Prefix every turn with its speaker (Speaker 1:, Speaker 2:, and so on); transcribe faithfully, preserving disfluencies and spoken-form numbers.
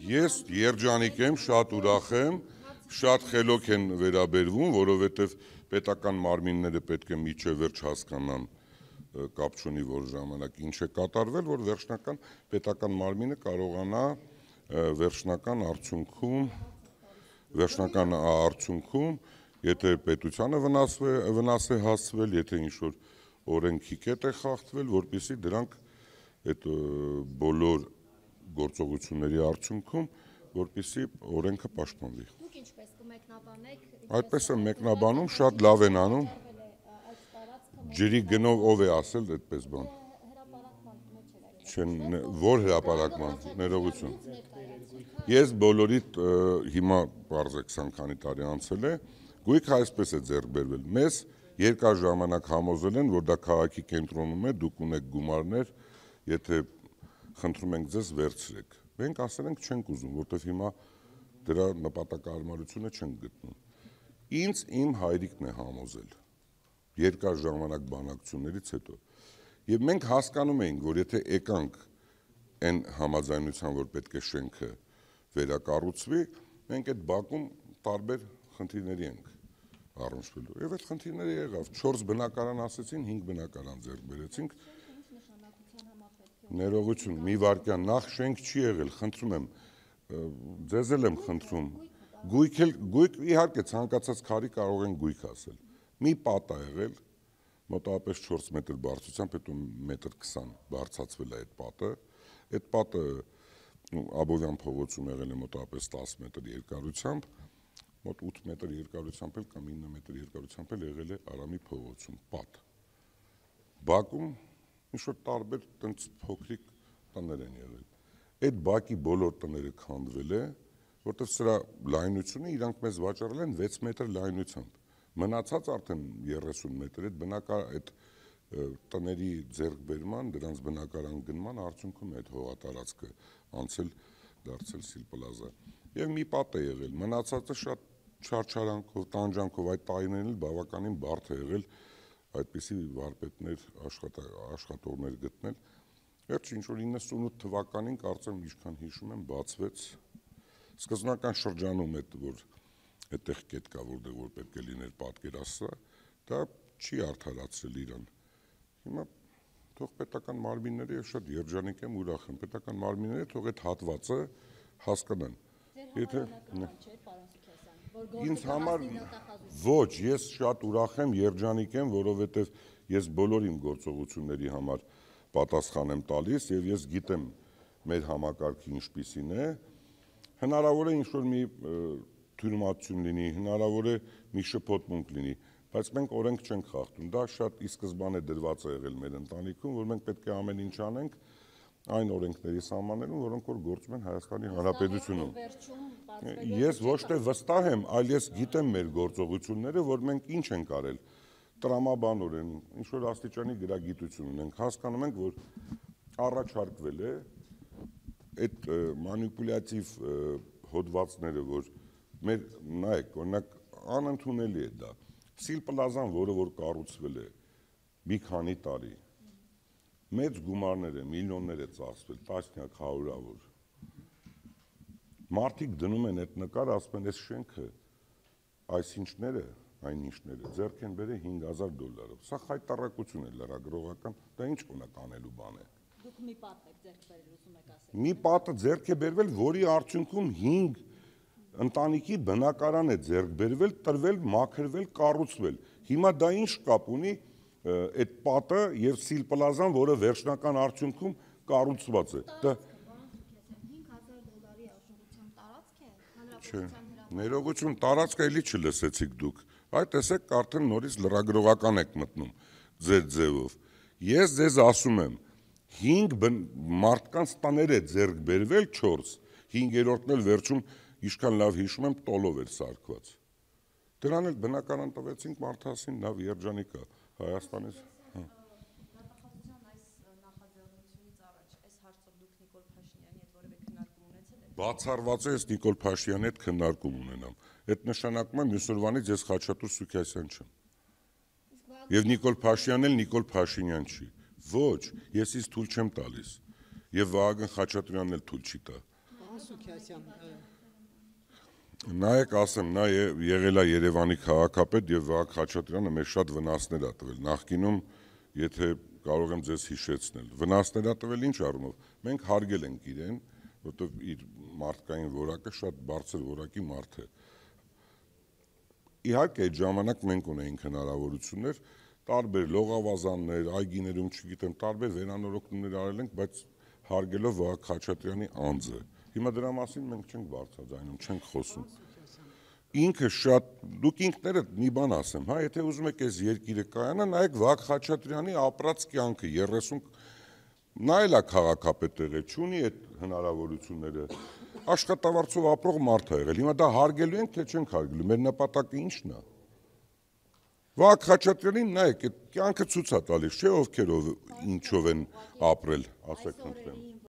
Speaker 1: Ես երջանիկ եմ, շատ ուրախ եմ, շատ խելոք են վերաբերվում, որովհետև պետական մարմինները պետք է մինչև վերջ հասկանան, կապ չունի որ ժամանակ ինչ է կատարվել, որ վերջնական պետական մարմինը կարողանա վերջնական արդյունքում, վերջնական արդյունքում, եթե պետությանը վնաս է հասցվել, եթե ինչ-որ օրենքի կետ է խախտվել, որպեսզի դրանք այդ բոլոր գործողությունների արդյունքում, որպեսզի օրենքը պաշտպանվի։
Speaker 2: Դուք ինչպես կմեկնաբանեք։
Speaker 1: Այդպես եմ մեկնաբանում, շատ լավ են անում։ Ջրի գնով ով է ասել այդպես բան։ Որ հրապարակման, ներողություն։ Ես բոլորիդ հիմա պարզեք քսան քանի տարի անցել է, գույքը այսպես է ձեռք բերվել։ Մեզ երկար ժամանակ համոզել են, որ դա քաղաքի կենտրոնում է, դուք ունեք գումարներ, եթե խնդրում ենք ձեզ վերցրեք։ Մենք ասել ենք չենք ուզում, որտեվ հիմա դրա նպատակահարմարությունը չենք գտնում։ Ինձ իմ հայրիկն է համոզել երկար ժամանակ բանակցություններից հետո։ Եվ մենք հասկանում էինք, որ եթե եկանք այն համաձայնության, որ պետք է շենքը վերակառուցվի, մենք այդ բակում տարբեր խնդիրների ենք առնչվելու։ Եվ այդ խնդիրները եղավ, չորս բնակարան ասեցին, հինգ բնակարան ձեռք բերեցինք։ Ներողություն, մի վարքյան, նախ շենք չի եղել, խնդրում եմ, ձեզ էլ եմ խնդրում, գույք իհարկե ցանկացած քարի կարող են գույք ասել։ Մի պատ է եղել, մոտավորապես չորս մետր բարձրությամբ, հետո մետր քսան բարձրացվել է այդ պատը, այդ պատը Աբովյան փողոցում եղել է մոտավորապես տասը մետր երկարությամբ, մոտ ութ մետր երկարությամբ էլ կամ ինը մետր երկարությամբ էլ եղել է Արամի փողոցում, պատ։ Բակում ինչ-որ տարբեր տենց փոքրիկ տներ են եղել։ Այդ բակի բոլոր տները քանդվել է, որտեղ սրա լայնությունը իրանք մեզ վաճառել են վեց մետր լայնությամբ։ Մնացած արդեն երեսուն մետր այդ բնակար այդ տների ձեռքբերման, դրանց բնակարան գնման արդյունքում է այդ հողատարածքը անցել դարձել Սիլպլազա։ Եվ մի պատ է եղել, մնացածը շատ չարչարանքով, տանջանքով այդ տարիներին էլ բավականին բարդ է եղել այդպիսի վարպետներ աշխատողներ գտնել։ Վերջ ինչ-որ իննսունութ թվականին կարծեմ ինչքան հիշում եմ բացվեց սկզբնական շրջանում այդ որ այդտեղ կետ կա որտեղ որ պետք է լիներ պատկերասրահ, դա չի արդարացրել իրան։ Հիմա թող պետական մարմինները եւ շատ երջանիկ եմ ուրախ եմ պետական մարմինները թող այդ հատվածը հասկանան։ Եթե ինձ համար ոչ, ես շատ ուրախ եմ, երջանիկ եմ, որովհետեւ ես բոլոր իմ գործողությունների համար պատասխան եմ տալիս եւ ես գիտեմ մեր համակարգը ինչպիսին է, հնարավոր է ինչ-որ մի թյուրիմացություն լինի, հնարավոր է մի շփոթմունք լինի, բայց մենք օրենք չենք խախտում, դա շատ ի սկզբանե դրված է եղել մեր ընտանիքում, որ մենք պետք է ամեն ինչ անենք այն օրենքների սահմաններում, որոնք որ գործում են Հայաստանի Հանրապետությունում։ Ես ոչ թե վստահ եմ, այլ ես գիտեմ մեր գործողությունները, որ մենք ինչ ենք արել տրամաբանորեն, ինչ-որ աստիճանի գրագիտություն ունենք, հասկանում ենք, որ առաջարկվել է այդ մանիպուլյատիվ հոդվածները, որ մեր նայեք, օրինակ անընդունելի է դա։ Սիլպլազան, որը որ կառուցվել է մի քանի տարի, մեծ գումարներ է, միլիոններ է ծախսվել, տասնյակ, հարյուրավոր։ Մարդիկ դնում են այդ նկար, ասում են, այս շենքը, այս ինչները, այն ինչները, ձեռք են բերել հինգ հազար դոլարով։ Սա խայտառակություն է լրագրողական, դա ինչ կոնակ անելու բան է։
Speaker 2: Դուք մի պատ եք ձեռք բերել, ուզում եք ասել։
Speaker 1: Մի պատը ձեռք է բերվել, որի արդյունքում հինգ ընտանիքի բնակարան է ձեռք բերվել, տրվել, մաքրվել, կառուցվել։ Հիմա դա ինչ կապ ունի այդ պատը եւ Սիլպլազան, որը վերջնական արդյունքում կառուցված է։ Դա
Speaker 2: հինգ հազար դոլարի աշխուժությամբ տարածք է, հանրապետության հրապարակում։
Speaker 1: Ներողություն, տարածքը էլի չլսեցիք դուք։ Այ տեսեք, արդեն նորից լրագրողական եք մտնում ձեր ձևով։ Ես ձեզ ասում եմ, հինգ մարդկանց տաներ է ձեռք բերվել չորս, հինգերորդն էլ վերջում ինչքան լավ հիշում եմ, տոլով էր սարքված։ Դրան էլ բնականon տվեցինք մարդասին, լավ երջանիկ է Հայաստանից։
Speaker 2: Նախագահության այս նախաձեռնությունից առաջ այս հարցով դուք Նիկոլ Փաշինյանի հետ որևէ քննարկում ունեցել եք։
Speaker 1: Բացառված է ես Նիկոլ Փաշինյանի հետ քննարկում ունենամ։ Այդ նշանակում է մյուս օրվանից ես Խաչատուր Սուքիասյան չեմ։ Եվ Նիկոլ Փաշինյանն էլ Նիկոլ Փաշինյան չի։ Ոչ, ես ինձ թույլ չեմ տալիս։ եւ Վահագն Խաչատրյանն էլ թույլ չի տա։ Նայեք, ասեմ, նա եղել է Երևանի քաղաքապետ եւ Վահագն Խաչատրյանը մեզ շատ վնասներ ա տվել։ Նախկինում, եթե կարող եմ ձեզ հիշեցնել, վնասներ ա տվել ինչ առումով։ Մենք հարգել ենք իրեն, որովհետեւ իր մարդկային որակը շատ բարձր որակի մարդ է։ Իհարկե, այդ ժամանակ մենք ունեինք հնարավորություններ, տարբեր լողավազաններ, այգիներում, չգիտեմ, տարբեր վերանորոգումներ արել ենք, բայց հարգելով Վահագն Խաչատրյանի անձը։ Հիմա դրա մասին մենք չենք բարձրաձայնում, չենք խոսում։ Ինքը շատ, դուք ինքներդ մի բան ասեմ, հա, եթե ուզում եք այս երկիրը կայանա, նայեք Վահագն Խաչատրյանի ապրած կյանքը, երեսուն, նա էլ է քաղաքապետ եղել, չունի այդ հնարավորությունները, աշխատավարձով ապրող մարդ է եղել, հիմա դա հարգելու ենք, թե չենք հարգելու, մեր նպատակը ի՞նչն է։ Վահագն Խաչատրյանին նայեք, այդ կյանքը ցույց է տալիս, չէ՞ ովքեր ինչով են ապրել, ասեք խնդրեմ։